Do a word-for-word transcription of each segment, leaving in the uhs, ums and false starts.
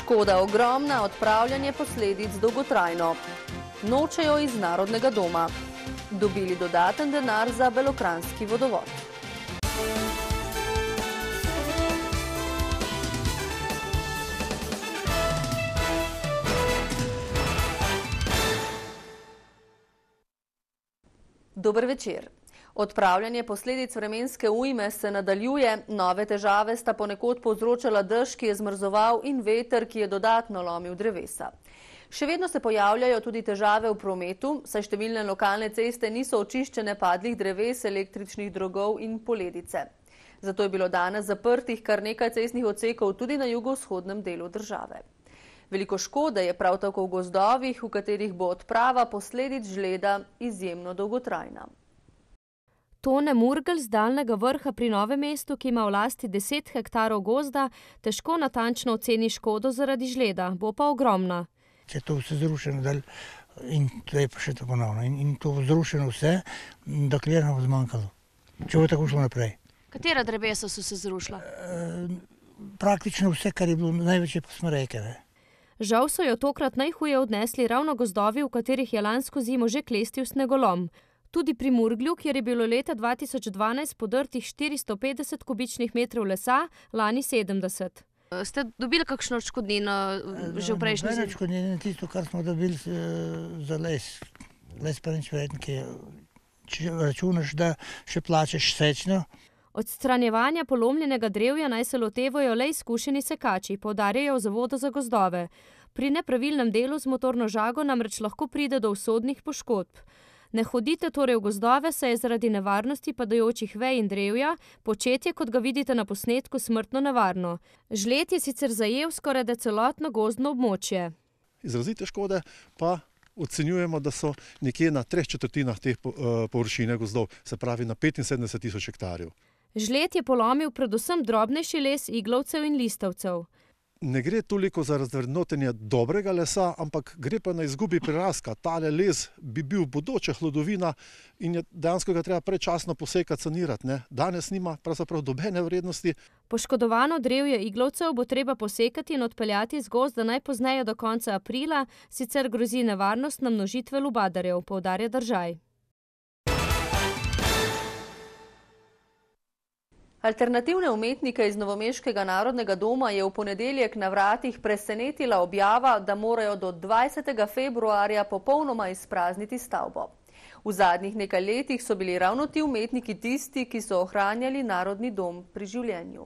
Škoda ogromna, odpravljanje posledic dolgotrajno. Nočejo iz Narodnega doma. Dobili dodaten denar za belokranjski vodovod. Dober večer. Odpravljanje posledic vremenske ujme se nadaljuje, nove težave sta ponekod povzročala dež, ki je zmrzoval, in veter, ki je dodatno lomil drevesa. Še vedno se pojavljajo tudi težave v prometu, saj številne lokalne ceste niso očiščene padlih dreves, električnih drogov in poledice. Zato je bilo danes zaprtih kar nekaj cestnih odsekov tudi na jugovzhodnem delu države. Veliko škode je prav tako v gozdovih, v katerih bo odprava posledic žleda izjemno dolgotrajna. Tone Murgel z Daljnega Vrha pri Novem mestu, ki ima v lasti deset hektarov gozda, težko natančno oceni škodo zaradi žleda, bo pa ogromna. Če je to vse zrušeno, in to je pa še to ponovno, in, in to zrušeno vse, dokler nam bo zmanjkalo. Če bo tako šlo naprej. Katera drevesa so se zrušila? E, praktično vse, kar je bilo največje posmreke. Žal so jo tokrat najhuje odnesli ravno gozdovi, v katerih je lansko zimo že klestil snegolom. Tudi pri Murglju, kjer je bilo leta dva tisoč dvanajst podrtih štiristo petdeset kubičnih metrov lesa, lani sedemdeset. Ste dobili kakšno odškodnino že v prejšnji zimi? Odškodnino tisto, kar smo dobili za les. Les pa nič vreden, ki če računaš, da še plačeš sečno. Odstranjevanja polomljenega drevja naj se lotevajo le izkušeni sekači, poudarjajo v Zavodu za gozdove. Pri nepravilnem delu z motorno žago namreč lahko pride do usodnih poškodb. Ne hodite torej v gozdove, saj je zaradi nevarnosti padajočih vej in drevja početje, kot ga vidite na posnetku, smrtno nevarno. Žled je sicer zajel skorajda celotno gozdno območje. Izrazite škode pa ocenjujemo, da so nekje na treh četrtinah teh površine gozdov, se pravi na petinsedemdeset tisoč hektarjev. Žled je polomil predvsem drobnejši les iglovcev in listavcev. Ne gre toliko za razvrednotenje dobrega lesa, ampak gre pa na izgubi prirastka. Tale les bi bil bodoča hlodovina in je dejansko ga treba predčasno posekati, sanirati. Ne? Danes nima pravzaprav dobene vrednosti. Poškodovano drevje iglovcev bo treba posekati in odpeljati z gozda najpozneje do konca aprila, sicer grozi nevarnost namnožitve lubadarjev, poudarja Držaj. Alternativne umetnike iz Novomeškega Narodnega doma je v ponedeljek na vratih presenetila objava, da morajo do dvajsetega februarja popolnoma izprazniti stavbo. V zadnjih nekaj letih so bili ravno ti umetniki tisti, ki so ohranjali Narodni dom pri življenju.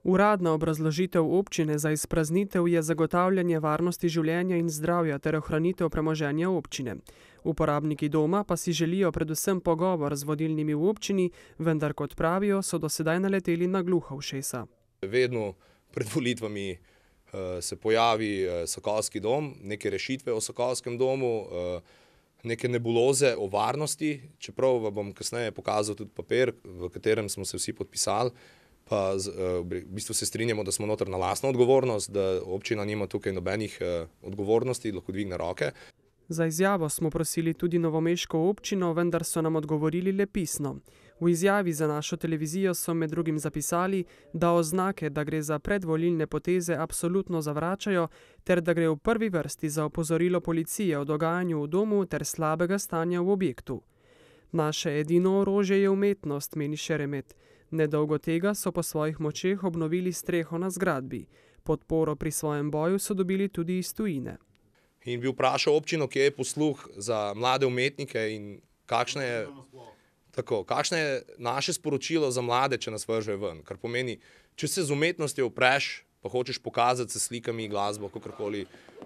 Uradna obrazložitev občine za izpraznitev je zagotavljanje varnosti življenja in zdravja ter ohranitev premoženja občine. Uporabniki doma pa si želijo predvsem pogovor z vodilnimi v občini, vendar kot pravijo, so do sedaj naleteli na gluha ušesa. Vedno pred volitvami se pojavi Sokolski dom, neke rešitve o Sokolskem domu, neke nebuloze o varnosti, čeprav vam bom kasneje pokazal tudi papir, v katerem smo se vsi podpisali, pa v bistvu se strinjamo, da smo noter na lastno odgovornost, da občina nima tukaj nobenih odgovornosti, lahko dvigne roke. Za izjavo smo prosili tudi novomeško občino, vendar so nam odgovorili le pisno. V izjavi za našo televizijo so med drugim zapisali, da oznake, da gre za predvolilne poteze, absolutno zavračajo, ter da gre v prvi vrsti za opozorilo policije o dogajanju v domu ter slabega stanja v objektu. Naše edino orožje je umetnost, meni Šeremet. Nedolgo tega so po svojih močeh obnovili streho na zgradbi. Podporo pri svojem boju so dobili tudi iz tujine. In bi vprašal občino, kje je posluh za mlade umetnike in kakšno je, tako, kakšno je naše sporočilo za mlade, če nas vrže ven. Kar pomeni, če se z umetnostjo upreš, pa hočeš pokazati se slikami, glasbo, kakorkoli,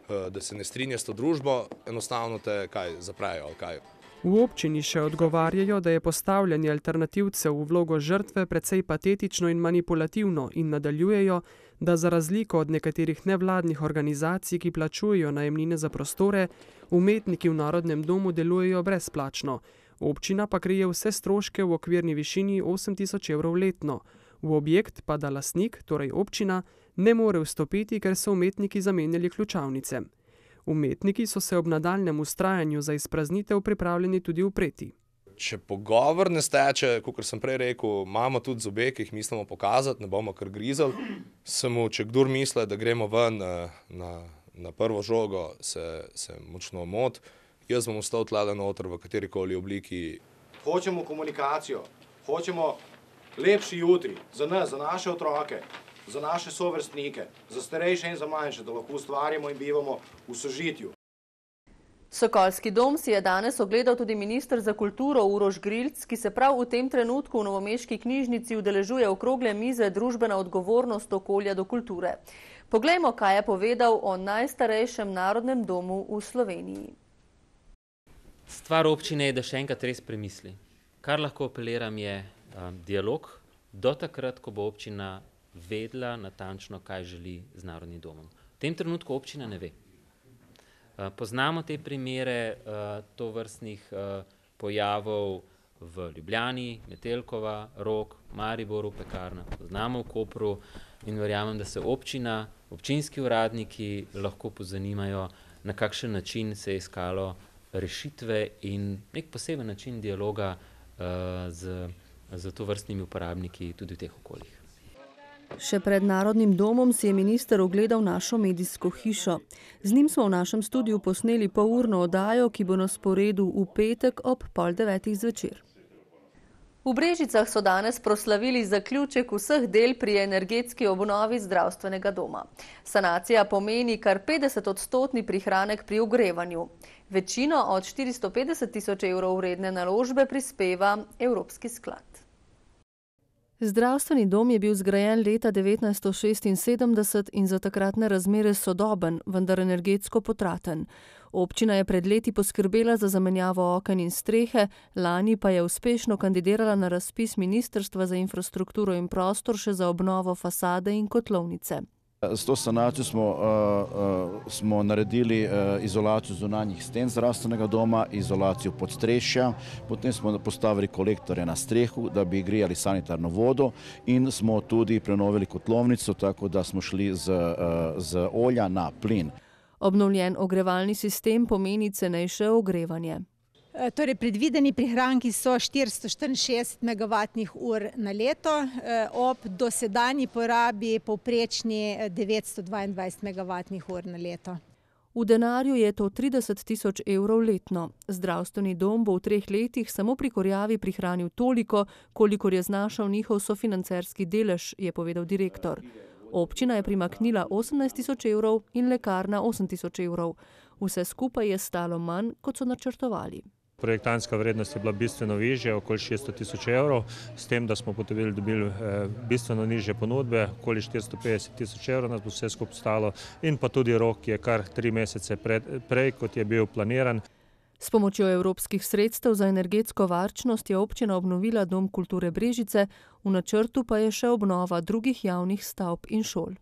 da se ne strinja s to družbo, enostavno te kaj zaprejo ali kaj. V občini še odgovarjajo, da je postavljanje alternativcev v vlogo žrtve precej patetično in manipulativno in nadaljujejo, da za razliko od nekaterih nevladnih organizacij, ki plačujejo najemnine za prostore, umetniki v Narodnem domu delujejo brezplačno. Občina pa krije vse stroške v okvirni višini osem tisoč evrov letno. V objekt pa da lastnik, torej občina, ne more vstopiti, ker so umetniki zamenjali ključavnice. Umetniki so se ob nadaljnjem vztrajanju za izpraznitev pripravljeni tudi upreti. če pogovor ne steče, kot sem prej rekel, imamo tudi zobe, ki jih mislimo pokazati, ne bomo kar grizali. Samo, če kdor misli, da gremo ven na, na prvo žogo, se, se močno moti. Jaz bom ostal tlele noter v katerikoli obliki. Hočemo komunikacijo, hočemo lepši jutri za nas, za naše otroke, za naše sovrstnike, za starejše in za manjše, da lahko ustvarjamo in bivamo v sožitju. Sokolski dom si je danes ogledal tudi minister za kulturo Uroš Grilc, ki se prav v tem trenutku v novomeški knjižnici udeležuje okrogle mize Družbena odgovornost okolja do kulture. Poglejmo, kaj je povedal o najstarejšem narodnem domu v Sloveniji. Stvar občine je, da še enkrat res premisli. Kar lahko apeliram je um, dialog do takrat, ko bo občina vedela natančno, kaj želi z narodnim domom. V tem trenutku občina ne ve. Poznamo te primere uh, tovrstnih uh, pojavov v Ljubljani, Metelkova, Rog, Mariboru, Pekarna, poznamo v Kopru in verjamem, da se občina, občinski uradniki lahko pozanimajo, na kakšen način se je iskalo rešitve in nek poseben način dialoga uh, z, z tovrstnimi uporabniki tudi v teh okoljih. Še pred Narodnim domom si je minister ogledal našo medijsko hišo. Z njim smo v našem studiu posneli polurno oddajo, ki bo na sporedu v petek ob pol devetih zvečer. V Brežicah so danes proslavili zaključek vseh del pri energetski obnovi zdravstvenega doma. Sanacija pomeni kar petdeset odstotni prihranek pri ogrevanju. Večino od štiristo petdeset tisoč evrov vredne naložbe prispeva Evropski sklad. Zdravstveni dom je bil zgrajen leta devetnajststo šestinsedemdeset in za takratne razmere sodoben, vendar energetsko potraten. Občina je pred leti poskrbela za zamenjavo oken in strehe, lani pa je uspešno kandidirala na razpis Ministrstva za infrastrukturo in prostor še za obnovo fasade in kotlovnice. S to sanacijo smo, uh, uh, smo naredili uh, izolacijo zunanjih sten zdravstvenega doma, izolacijo podstrešja, potem smo postavili kolektore na strehu, da bi grijali sanitarno vodo in smo tudi prenovili kotlovnico, tako da smo šli z, uh, z olja na plin. Obnovljen ogrevalni sistem pomeni cenejše ogrevanje. Torej, predvideni prihranki so štiristo štiriinšestdeset megavatnih ur na leto, ob dosedanji porabi povprečni devetsto dvaindvajset megavatnih ur na leto. V denarju je to trideset tisoč evrov letno. Zdravstveni dom bo v treh letih samo pri kurjavi prihranil toliko, kolikor je znašal njihov sofinancerski delež, je povedal direktor. Občina je primaknila osemnajst tisoč evrov in lekarna osem tisoč evrov. Vse skupaj je stalo manj, kot so načrtovali. Projektantska vrednost je bila bistveno višja, okoli šeststo tisoč evrov, s tem, da smo potem dobili bistveno nižje ponudbe, okoli štiristo petdeset tisoč evrov nas bo vse skupaj stalo in pa tudi rok je kar tri mesece pred, prej, kot je bil planiran. S pomočjo evropskih sredstev za energetsko varčnost je občina obnovila Dom kulture Brežice, v načrtu pa je še obnova drugih javnih stavb in šol.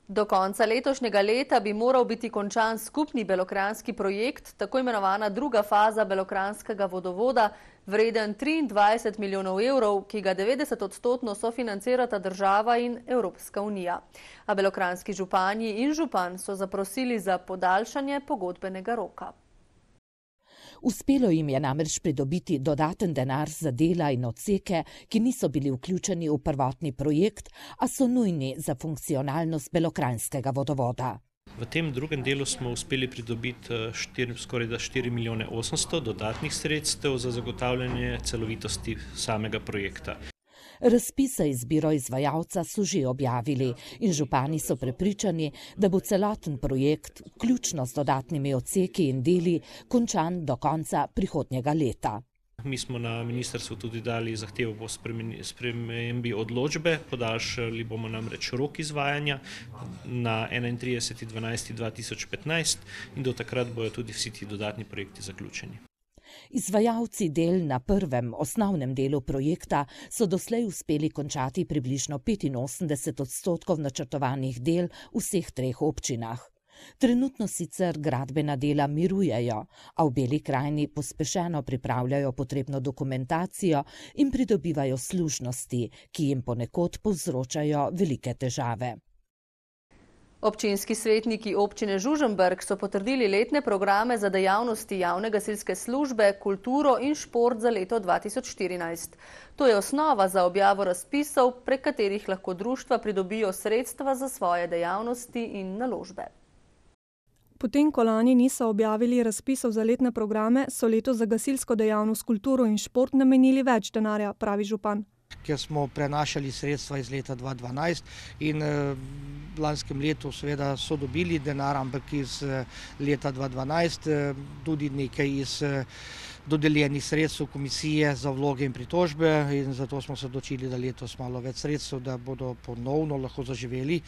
Do konca letošnjega leta bi moral biti končan skupni belokranjski projekt, tako imenovana druga faza belokranjskega vodovoda, vreden triindvajset milijonov evrov, ki ga devetdeset odstotno sofinancirata država in Evropska unija. A belokranjski župani in župan so zaprosili za podaljšanje pogodbenega roka. Uspelo jim je namreč pridobiti dodaten denar za dela in odseke, ki niso bili vključeni v prvotni projekt, a so nujni za funkcionalnost belokranjskega vodovoda. V tem drugem delu smo uspeli pridobiti štiri, skoraj da štiri milijone osemsto dodatnih sredstev za zagotavljanje celovitosti samega projekta. Razpis za izbiro izvajalca so že objavili in župani so prepričani, da bo celoten projekt, vključno z dodatnimi odseki in deli, končan do konca prihodnjega leta. Mi smo na ministrstvu tudi dali zahtevo po spremembi odločbe, podaljšali bomo namreč rok izvajanja na enaintrideseti dvanajsti dva tisoč petnajst in do takrat bojo tudi vsi ti dodatni projekti zaključeni. Izvajalci del na prvem, osnovnem delu projekta so doslej uspeli končati približno petinosemdeset odstotkov načrtovanih del v vseh treh občinah. Trenutno sicer gradbena dela mirujejo, a v Beli krajini pospešeno pripravljajo potrebno dokumentacijo in pridobivajo služnosti, ki jim ponekod povzročajo velike težave. Občinski svetniki občine Žužemberk so potrdili letne programe za dejavnosti javne gasilske službe, kulturo in šport za leto dva tisoč štirinajst. To je osnova za objavo razpisov, prek katerih lahko društva pridobijo sredstva za svoje dejavnosti in naložbe. Potem, ko lani niso objavili razpisov za letne programe, so letos za gasilsko dejavnost, kulturo in šport namenili več denarja, pravi župan. Ker smo prenašali sredstva iz leta dva tisoč dvanajst in v lanskem letu seveda so dobili denar, ampak iz leta dva tisoč dvanajst tudi nekaj iz dodeljenih sredstev komisije za vloge in pritožbe in zato smo se odločili, da letos malo več sredstev, da bodo ponovno lahko zaživeli.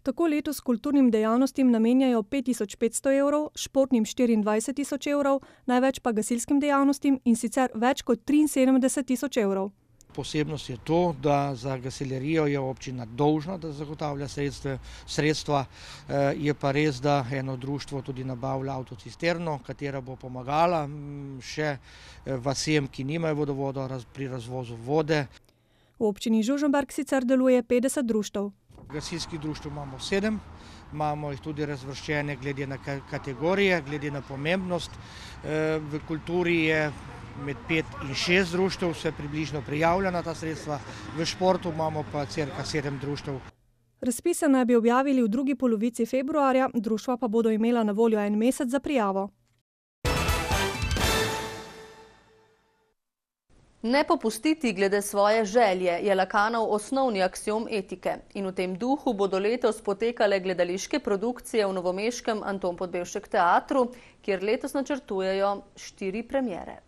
Tako letos kulturnim dejavnostim namenjajo pet tisoč petsto evrov, športnim štiriindvajset tisoč evrov, največ pa gasilskim dejavnostim in sicer več kot triinsedemdeset tisoč evrov. Posebnost je to, da za gasilerijo je občina dolžna, da zagotavlja sredstva, sredstva. Je pa res, da eno društvo tudi nabavlja avtocisterno, katera bo pomagala še vasem, ki nimajo vodovoda pri razvozu vode. V občini Žužemberk sicer deluje petdeset društev. Gasilskih društev imamo sedem, imamo jih tudi razvrščene glede na kategorije, glede na pomembnost. V kulturi je med pet in šest društev se približno prijavlja na ta sredstva, v športu imamo pa cirka sedem društev. Razpise naj bi objavili v drugi polovici februarja, društva pa bodo imela na voljo en mesec za prijavo. Ne popustiti glede svoje želje je Lacanov osnovni aksiom etike in v tem duhu bodo letos potekale gledališke produkcije v novomeškem Anton Podbevšek teatru, kjer letos načrtujejo štiri premiere.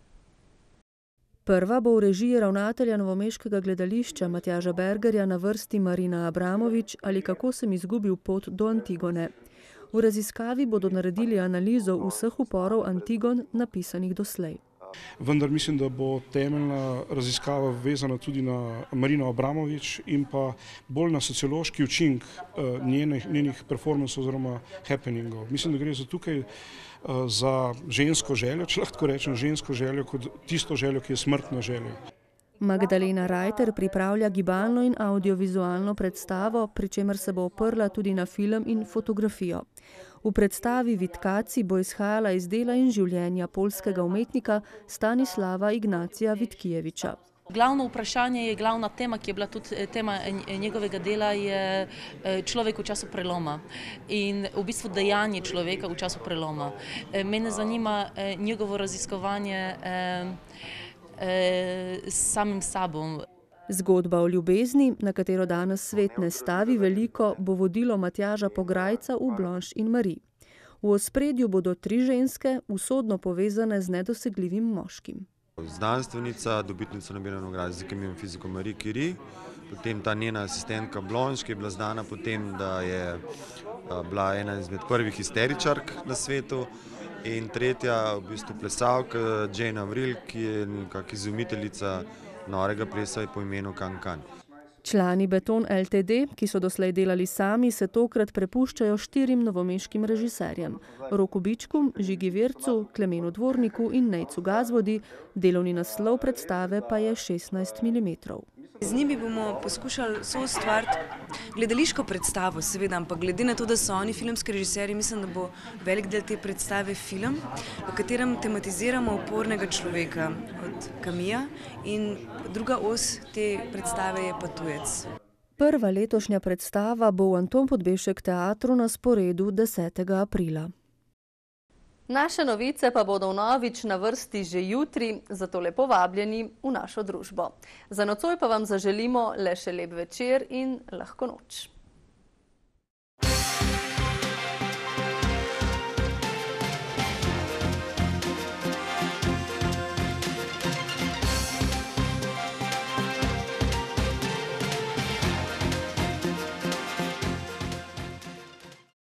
Prva bo v režiji ravnatelja novomeškega gledališča Matjaža Bergerja na vrsti Marina Abramovič ali Kako sem izgubil pot do Antigone. V raziskavi bodo naredili analizo vseh uporov Antigon, napisanih doslej. Vendar mislim, da bo temeljna raziskava vezana tudi na Marino Abramovič in pa bolj na sociološki učink njenih, njenih performansov oziroma happeningov. Mislim, da gre za tukaj za žensko željo, če lahko rečem žensko željo, kot tisto željo, ki je smrtna želja. Magdalena Rajter pripravlja gibalno in audiovizualno predstavo, pri čemer se bo oprla tudi na film in fotografijo. V predstavi Vitkaci bo izhajala iz dela in življenja poljskega umetnika Stanislava Ignacija Vitkijeviča. Glavno vprašanje je, glavna tema, ki je bila tudi tema njegovega dela, je človek v času preloma in v bistvu dejanje človeka v času preloma. Mene zanima njegovo raziskovanje s samim sabom. Zgodba o ljubezni, na katero danes svet ne stavi veliko, bo vodilo Matjaža Pograjca v Blanche in Marie. V ospredju bodo tri ženske, usodno povezane z nedosegljivim moškim. Znanstvenica, dobitnica Nobelove nagrade za kemijo in fiziko Marie Curie, potem ta njena asistentka Blanche, ki je bila znana potem, da je bila ena izmed prvih histeričark na svetu, in tretja v bistvu plesalka Jane Avril, ki je nekako izumiteljica norega plesa po imenu Can-Can. Člani Beton L T D, ki so doslej delali sami, se tokrat prepuščajo štirim novomeškim režiserjem. Roku Bičku, Žigi Vircu, Klemenu Dvorniku in Nejcu Gazvodi, delovni naslov predstave pa je šestnajst milimetrov. Z njimi bomo poskušali soustvariti gledališko predstavo, seveda, ampak glede na to, da so oni filmski režiserji, mislim, da bo velik del te predstave film, v katerem tematiziramo upornega človeka od Camilla in druga os te predstave je pa tujec. Prva letošnja predstava bo v Anton Podbevšek teatru na sporedu desetega aprila. Naše novice pa bodo vnovič na vrsti že jutri, zato lepo vabljeni v našo družbo. Za nocoj pa vam zaželimo le še lep večer in lahko noč.